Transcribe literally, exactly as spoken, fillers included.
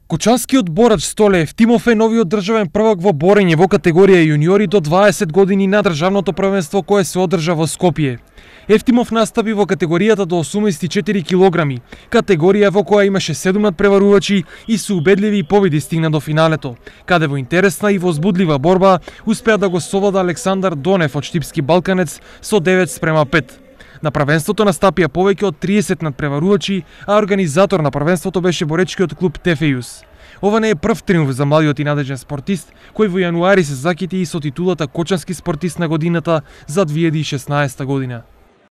Кочанскиот борач Столе Евтимов е новиот државен првак во борење во категорија јуниори до дваесет години на државното првенство кое се одржа во Скопје. Евтимов настави во категоријата до осумдесет и четири килограми, категорија во која имаше седум надпреварувачи и со убедливи победи стигна до финалето, каде во интересна и возбудлива борба успеа да го совлада Александар Донев од Штипски Балканец со девет спрема пет. На првенството настапија повеќе од триесет надпреварувачи, а организатор на првенството беше боречкиот клуб Тефејус. Ова не е прв триумф за младиот и надежен спортист, кој во јануари се закити и со титулата Кочански спортист на годината за две илјади и шеснаесета година.